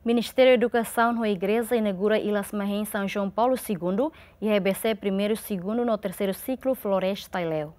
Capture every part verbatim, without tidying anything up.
Ministériu Edukasaun ho Igreja inaugura Ilhas Mahén São João Paulo Segundo iha E B C primeiru, segundu no terseiru siklu Floresta Aileu.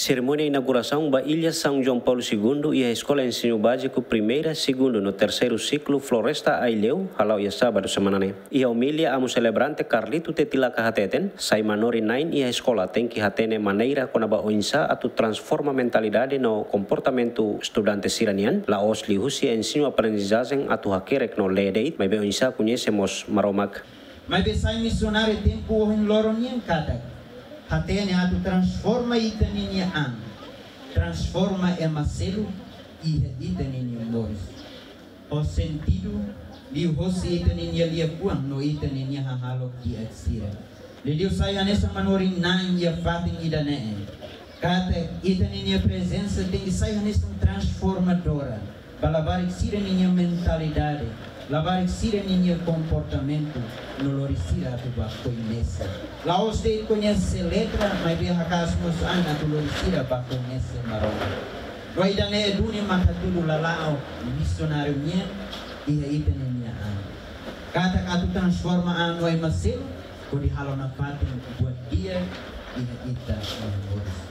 Serimónia inaugurasaun ba Ilhas São João Paulo Segundo iha Eskola Ensinu Báziku primeira, segundu no terseiru siklu Floresta Aileu hala'o iha sábadu semana ne'e. Iha omilia, amu selebrante Carlito Tetilaka hateten, sai manorin-na'in iha eskola tenke hatene maneira kona-ba oinsá atu transforma mentalidade no komportamentu estudante sira-nian, la'ós liuhusi ensinu-aprendizajen atu hakerek no lee de'it, maibé oinsá koñese mós Maromak. Maibé sai misionáriu tempu ohin loron nian katak hatene atu transforma ita-ninia an, transforma ema seluk iha ita-ninia moris. Ho sentidu, liuhosi ita-ninia liafuan no ita-ninia hahalok di'ak sira. Liuliu sai hanesan manorin-na'in iha fatin ida-ne'e, katak ita-ninia prezensa tenke sai hanesan transformadora ba labarik sira-ninia mentalidade, labarik sira-ninia komportamentu, no lori sira atu ba koñese. La'ós de'it koñese letra, maibé hakaas mós an atu lori sira ba koñese Maromak. No ida-ne'e duni mak hatudu lala'ok misionáriu nian iha ita-ninia an. Katak atu transforma an no ema seluk, hodi halo nafatin buat di'ak iha ita-nia moris.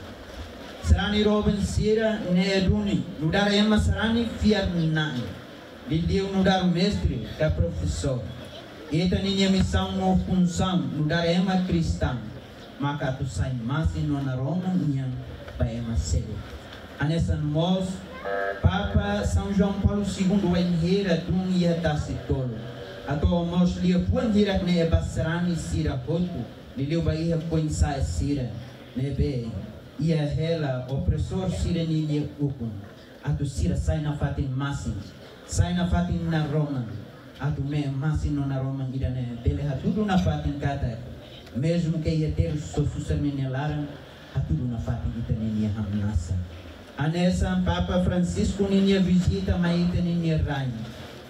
Sarani doben sira, ne'e duni nu'udar ema sarani fiar-na'in. Liuliu nu'udar mestre ka profesór. Ita-ninia misaun no funsaun nu'udar ema kristaun maka atu sai masin no naroman nian ba ema seluk. Hanesan mós Papa São João Paulo Segundo wainhira tun iha Tasi Tolu, hato'o mós liafuan hirak-ne'e ba sarani sira hotu, liuliu ba iha foin-sa'e sira ne'ebé iha hela opresór sira-ninia ukun, atu sira sai nafatin masin, sai nafatin naroman, atu me'e masin no naroman ida-ne'e bele hatudu nafatin katak, mezmu ke iha terus só susar ninia laran, hatudu nafatin ita-ninia hamnasa. Hanesan Papa Francisco ninia vizita mai ita-ninia rain,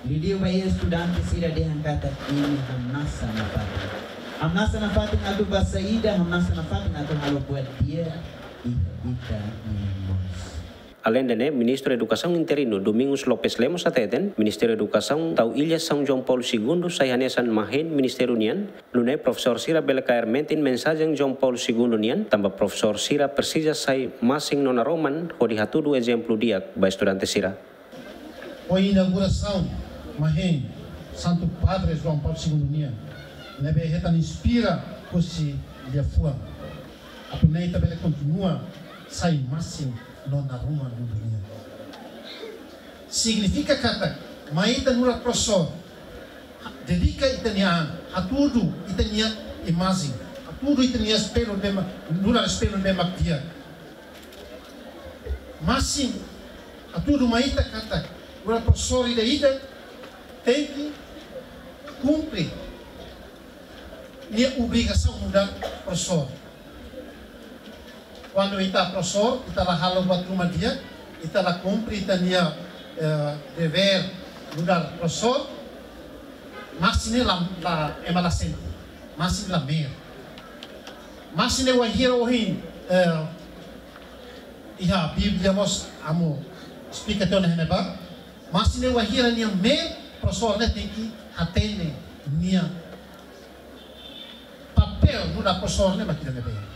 liuliu ba iha estudante sira dehan katak imi hamnasa nafatin. Hamnasa nafatin atu ba saida, hamnasa nafatin atu halo buat di'ak iha ita-nia moris. Aleinde ne'e, Ministru Edukasaun interinu Domingos Lopes Lemos hateten, Ministériu Edukasaun tau Ilhas São João Paulo Segundo sai hanesan mahén ministériu nian, nune'e profesór sira bele kaer metin mensajen João Paulo Segundo nian, tanba profesór sira presiza sai masin no naroman hodi hatudu ezemplu di'ak ba estudante sira. Ho inaugurasaun mahén Santu Padre João Paulo Segundo nian, ne'ebé hetan inspira husi liafuan, atu nune'e ita bele kontinua sai masin no naroman mundu nian. Signifika katak mai ita nu'udar profesór dedika ita-nia an, hatudu ita-nia imajen, hatudu ita-nia espellu ne'ebé mak, nu'udar espellu ne'ebé mak di'ak. Masin, hatudu mai ita katak nu'udar profesór ida-idak tenke kumpre nia obrigasaun nu'udar profesór. Kuandu ita profesór, ita la halo buat ruma di'ak, ita la kumpre ita-nia, eh, devér nu'udar profesór, masin ne'e la, la, ema la sente, masin la me'er. Masin ne'e wainhira ohin, eh, iha Bíblia mós amu esplika tiha ona iha ne'ebá, masin ne'e wainhira nia me'er, profesór ne'e tenke hatene nia papél nu'udar profesór ne'e mak ida-ne'ebé.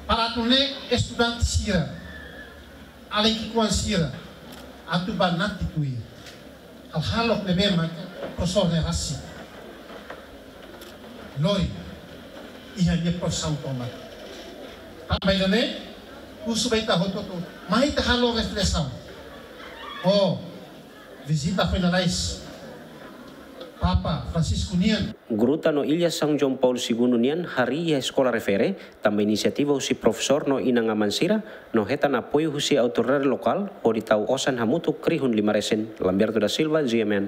Para atu nune'e estudante sira, alin ki'ikoan sira, atu banati tuir hahalok ne'ebé mak profesór ne'e rasik lori iha nia profisaun tomak. Tanba ida-ne'e, husu ba ita hotu-hotu, mai ita halo reflesaun. Oh, vizita foin lalais Papa Francisco nian. Gruta no Ilha São João Paulo Segundo nian harii iha eskola refere, tanba inisiativa husi profesór no inan-aman sira, no hetan apoiu husi autoridade lokál, hodi tau osan hamutuk rihun lima resin. Lamberto da Silva, G M N.